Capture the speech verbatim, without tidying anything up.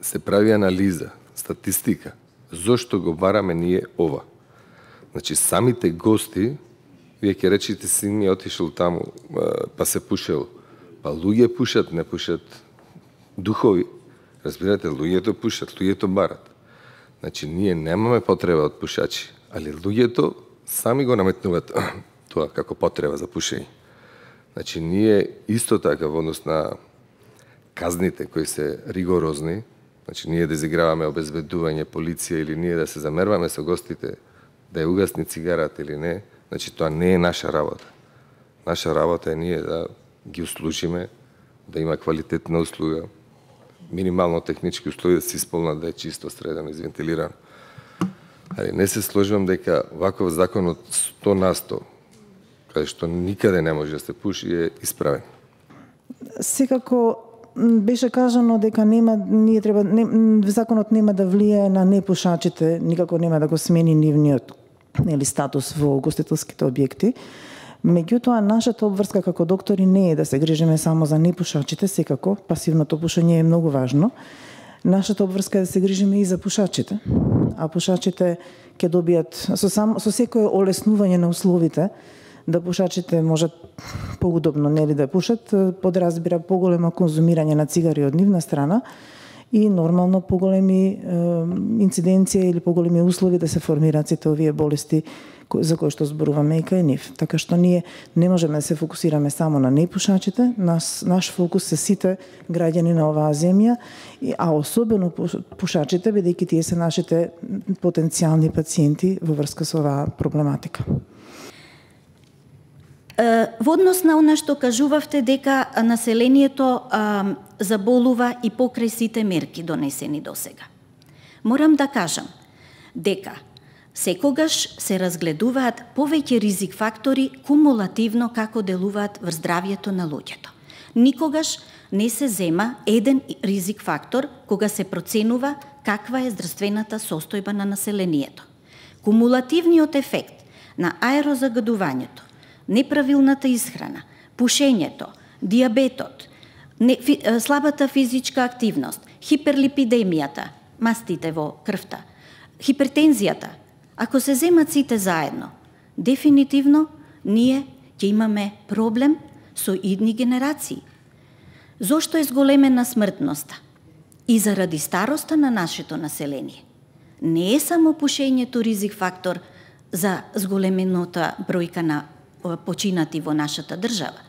се прави анализа, статистика, зошто го бараме ние ова. Значи, самите гости, вие ќе речите, син ми отишел таму, па се пушел. Па луѓе пушат, не пушат духови. Разбирате, луѓето пушат, луѓето барат. Значи, ние немаме потреба од пушачи, али луѓето сами го наметнуваат тоа како потреба за пушење. Значи, ние исто така во однос на казните кои се ригорозни, значи ние да изиграваме обезбедување, полиција или ние да се замерваме со гостите да ја угасни цигарата или не, значи тоа не е наша работа. Наша работа е ние да ги услужиме, да има квалитетна услуга, минимално технички услови да се исполнат, да е чисто, средено, извентилирано. Али не се сложувам дека ваков закон од сто на сто, каде што никаде не може да се пуши, е исправен. Секако беше кажано дека нема, ние треба, не, законот нема да влијае на непушачите, никако нема да го смени нивниот нели, статус во гостителските објекти. Меѓутоа, нашата обврска како доктори не е да се грижиме само за непушачите, секако, пасивното пушење е многу важно. Нашата обврска е да се грижиме и за пушачите, а пушачите ќе добијат со, сам, со секое олеснување на условите, да пушачите можат поудобно нели да пушат, подразбира поголемо конзумирање на цигари од нивна страна и нормално поголеми е, инциденции или поголеми услови да се формираат сите овие болести за кои што зборуваме и кај нив. Така што ние не можеме да се фокусираме само на непушачите, наш, наш фокус се сите граѓани на оваа земја, а особено пушачите, бидејќи тие се нашите потенцијални пациенти во врска со оваа проблематика. Во однос на она што кажувавте дека населението а, заболува и покрај сите мерки донесени до сега. Морам да кажам дека секогаш се разгледуваат повеќе ризик фактори кумулативно како делуваат врз здравјето на луѓето. Никогаш не се зема еден ризик фактор кога се проценува каква е здравствената состојба на населението. Кумулативниот ефект на аерозагадувањето, неправилната исхрана, пушењето, диабетот, не, фи, слабата физичка активност, хиперлипидемијата, мастите во крвта, хипертензијата, ако се земат сите заедно, дефинитивно ние ќе имаме проблем со идни генерации. Зошто е зголемена смртноста? И заради староста на нашето население. Не е само пушењето ризик фактор за зголемената бројка на починати во нашата држава.